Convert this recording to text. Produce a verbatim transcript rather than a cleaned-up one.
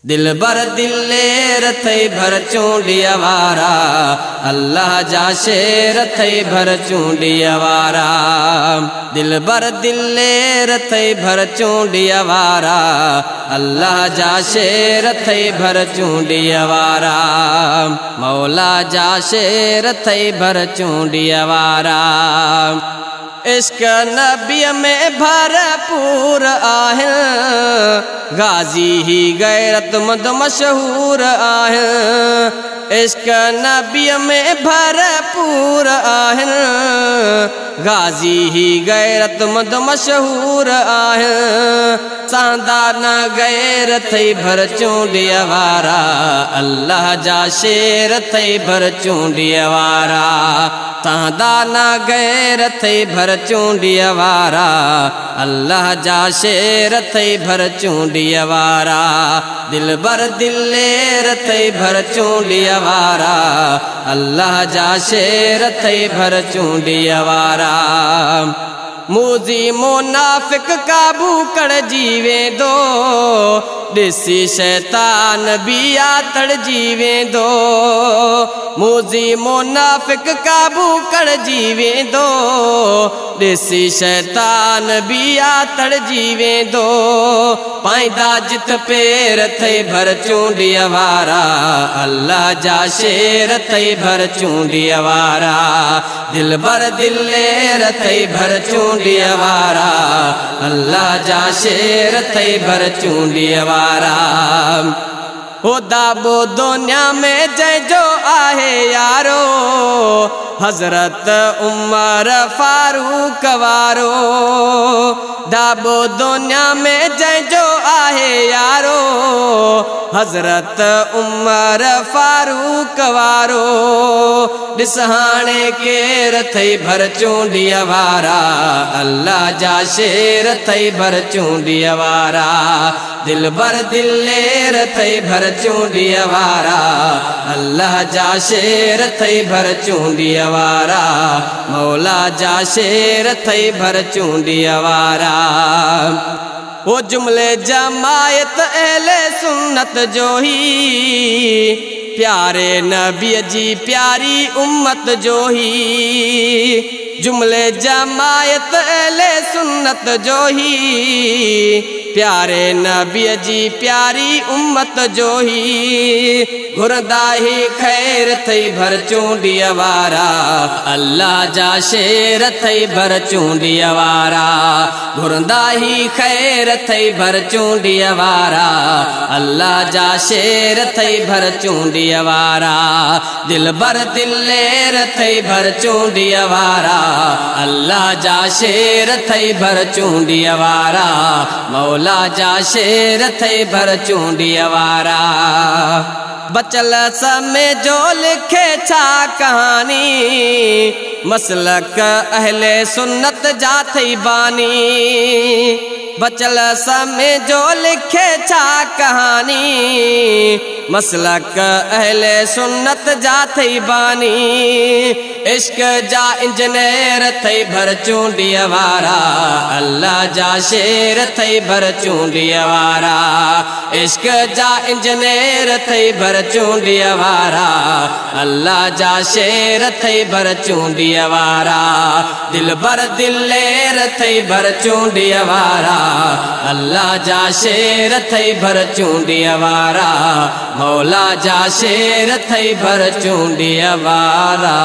दिलबर दिलेर अथई भर चूंडीअ वारा, अल्लाह जा शेर अथई भर चूंडीअ वारा। दिलबर दिलेर अथई भर चूंडीअ वारा, अल्लाह जा शेर अथई भर चूंडीअ वारा। मौला जा शेर अथई भर चूंडीअ वारा। इश्क नबीअ में भरपूर आहिनि, गाज़ी ही गैरतमंद मशहूर आहिनि। इश्क नबीअ में भरपूर आहिनि, गाज़ी ही गैरतमंद मशहूर आहिनि। सांदा न गैर अथई भर चूंडीअ वारा, अल्लाह जा शेर अथई भर चूंडीअ वारा। सांदा न गैर अथई भर चूंडीअ वारा, अल्लाह जा शेर अथई भर चूंडीअ वारा। दिलबर दिलेर अथई भर चूंडीअ वारा, अल्लाह जा शेर अथई भर चूंडीअ वारा। मूज़ी मुनाफ़िक काबू कड़जी वेंदो, ॾिसी शैतान बि आतड़जी वेंदो। मूज़ी मुनाफ़िक काबू कड़जी वेंदो, ॾिसी शैतान बि आतड़जी वेंदो। पाईंदा जिथ पेर अथई भर चूंडीअ वारा, अल्लाह जा शेर अथई भर चूंडीअ वारा। दिलबर दिलेर अथई भर चूंडीअ वारा, अल्लाह जा शेर अथई भर चूंडीअ वारा। हो दाबो दुनिया में जंहिंजो आहे यारो, हज़रत उमर फारूक वारो। दाबो दुनिया में जंहिंजो आहे यारो, हज़रत उमर फारूक वारो। ॾिस हाणे केर अथई भर चूंडीअ वारा, अल्लाह जा शेर अथई भर चूंडीअ वारा। दिलबर दिलेर अथई भर चूंडीअ वारा, अल्लाह जा शेर अथई भर चूंडीअ वारा। मौला जा शेर अथई भर चूंडीअ वारा। वो जुमले जमायत अहले सुन्नत जो ही, प्यारे नबी जी प्यारी उम्मत जो ही। जुमले जमायत अहले सुन्नत जो ही, प्यारे नबी जी प्यारी उम्मत जो ही। घुरंदा ही खैर अथई भर चूंडीअ वारा, अल्लाह जा शेर अथई भर चूंडीअ वारा। घुरंदा ही खैर अथई भर चूंडीअ वारा, अल्लाह जा शेर अथई भर चूंडीअ वारा। दिलबर दिलेर अथई भर चूंडीअ वारा, अल्लाह जा शेर अथई भर चूंडीअ वारा। मौला जा शेर अथई भर चूंडीअ वारा। बचल समय जो लिखे छा कहानी, मसलक अहले सुन्नत जा थई बानी। बचल समय जो लिखे छा कहानी, मसलक अहले सुन्नत जा थई बानी। इश्क जा इंजनेर अथई भर चूंडीअ वारा, अल्लाह जा शेर अथई भर चूंडीअ वारा। इश्क जा इंजनेर अथई भर चूंडीअ वारा, अल्लाह जा शेर अथई भर चूंडीअ वारा। दिलबर दिलेर अथई भर चूंडीअ वारा, अल्लाह जा शेर अथई भर चूंडीअ वारा। मौला जा शेर अथई भर चूंडीअ वारा।